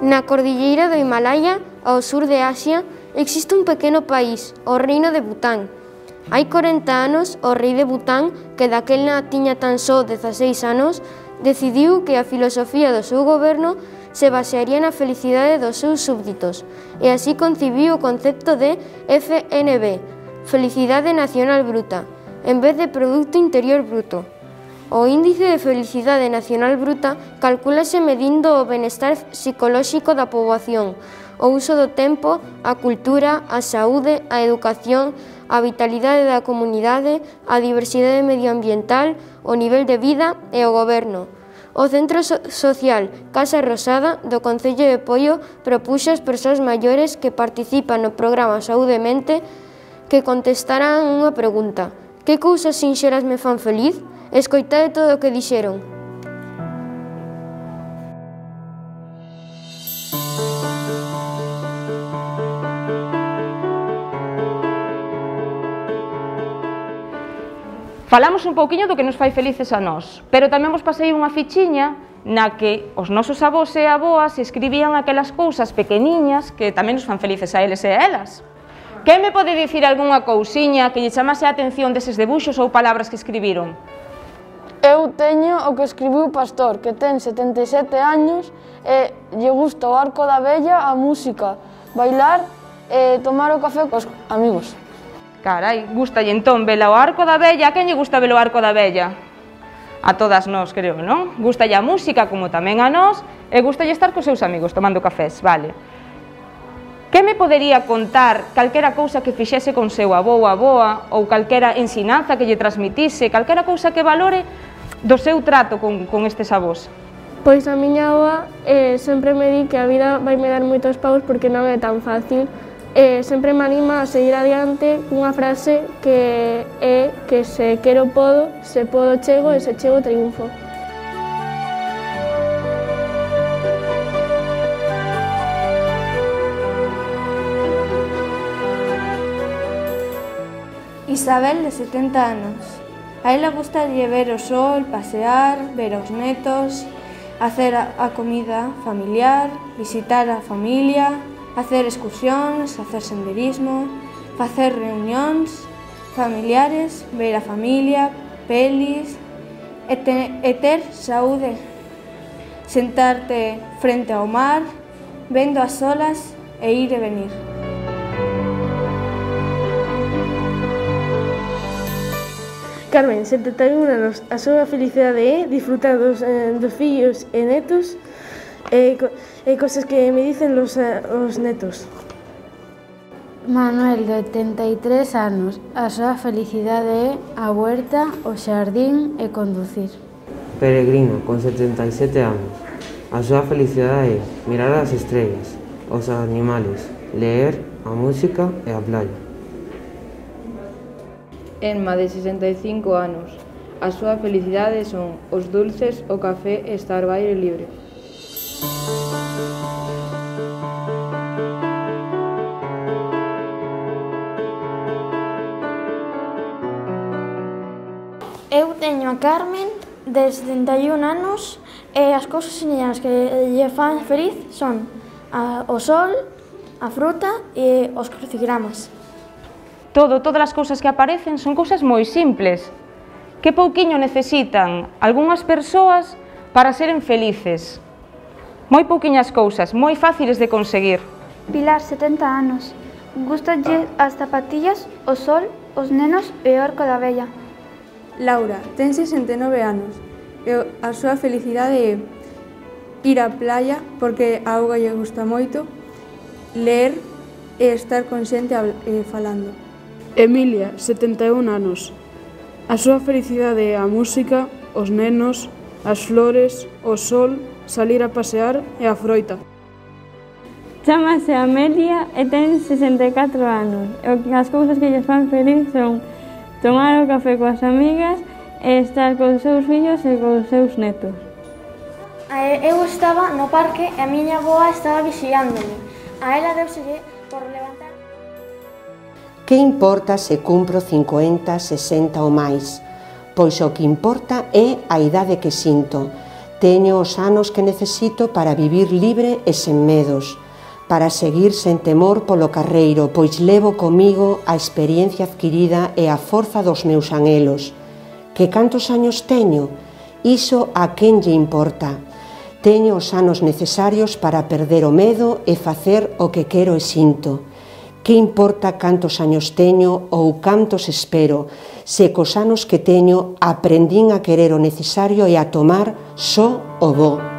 Na cordilleira do Himalaya, ao sur de Asia, existe un pequeno país, o reino de Bután. Hai 40 anos, o rei de Bután, que daquela tiña tan só 16 anos, decidiu que a filosofía do seu goberno se basearía na felicidade dos seus súbditos, e así concibiu o concepto de FNB, Felicidade Nacional Bruta, en vez de Producto Interior Bruto. O índice de felicidade nacional bruta calcúlase medindo o benestar psicolóxico da poboación, o uso do tempo, a cultura, a saúde, a educación, a vitalidade da comunidade, a diversidade medioambiental, o nivel de vida e o goberno. O Centro Social Casa Rosada do Concello de Poio propuxo ás persoas maiores que participan no programa Saúde Mente que contestaran unha pregunta: que cousas sinxelas me fan feliz? Escoitade todo o que dixeron. Falamos un pouquiño do que nos fai felices a nós, pero tamén vos pasei unha fichiña na que os nosos avós e avoas escribían aquelas cousas pequeniñas que tamén nos fan felices a eles e a elas. Que me pode dicir algunha cousiña que lle chamase a atención deses debuxos ou palabras que escribiron? Eu teño o que escribiu Pastor, que ten 77 años e lle gusta o Arco da Vella, a música, bailar e tomar o café cos amigos. Carai, gustalle entón vela o Arco da Vella. A quen lle gusta ver o Arco da Vella? A todas nós, creo, non? Gustalle a música, como tamén a nós, e gustalle estar cos seus amigos tomando cafés, vale. Que me podería contar calquera cousa que fixese con seu avó ou avoa, ou calquera ensinanza que lle transmitise, calquera cousa que valore do seu trato con estes avós? Pois a miña avoa sempre me di que a vida vai me dar moitos paus porque non é tan fácil. Sempre me anima a seguir adiante cunha frase que é que se quero podo, se podo chego e se chego triunfo. Isabel, de 70 anos. A ela gustalle ver o sol, pasear, ver os netos, hacer a comida familiar, visitar a familia, hacer excursións, hacer senderismo, facer reunións familiares, ver a familia, pelis e ter saúde. Sentarte frente ao mar, vendo as olas e ir e venir. Carmen, 71 anos, a súa felicidade é disfrutar dos fillos e netos e cosas que me dicen os netos. Manuel, de 83 anos, a súa felicidade é a huerta, o xardín e conducir. Peregrino, con 77 anos, a súa felicidade é mirar as estrelas, os animales, leer, a música e a playa. Enma, de 65 anos, a súa felicidade son os dulces, o café e estar ao aire libre. Eu teño a Carmen, de 71 anos, e as cousas señalas que lle fan feliz son o sol, a fruta e os crucigramas. Todas as cousas que aparecen son cousas moi simples. Que pouquiño necesitan algunhas persoas para seren felices. Moi pouquiñas cousas, moi fáciles de conseguir. Pilar, 70 anos. Gústalle as zapatillas, o sol, os nenos e o Arco da Vella. Laura, ten 69 anos e a súa felicidade é ir á playa porque a auga lle gusta moito, ler e estar con xente falando. Emilia, 71 anos. A súa felicidade é a música, os nenos, as flores, o sol, salir a pasear e a froita. Chámase Amelia e ten 64 anos. As cousas que lles fan feliz son tomar o café coas amigas e estar cos seus fillos e cos seus netos. Eu estaba no parque e a miña avoa estaba vixiándome. A ela deuselle por levantar. Que importa se cumpro 50, 60 ou máis? Pois o que importa é a idade que sinto. Teño os anos que necesito para vivir libre e sen medos, para seguir sen temor polo carreiro, pois levo comigo a experiencia adquirida e a forza dos meus anhelos. Que cantos años teño? Iso a quen lle importa? Teño os anos necesarios para perder o medo e facer o que quero e sinto. Que importa cantos años teño ou cantos espero, se cos anos que teño aprendín a querer o necesario e a tomar só o bo.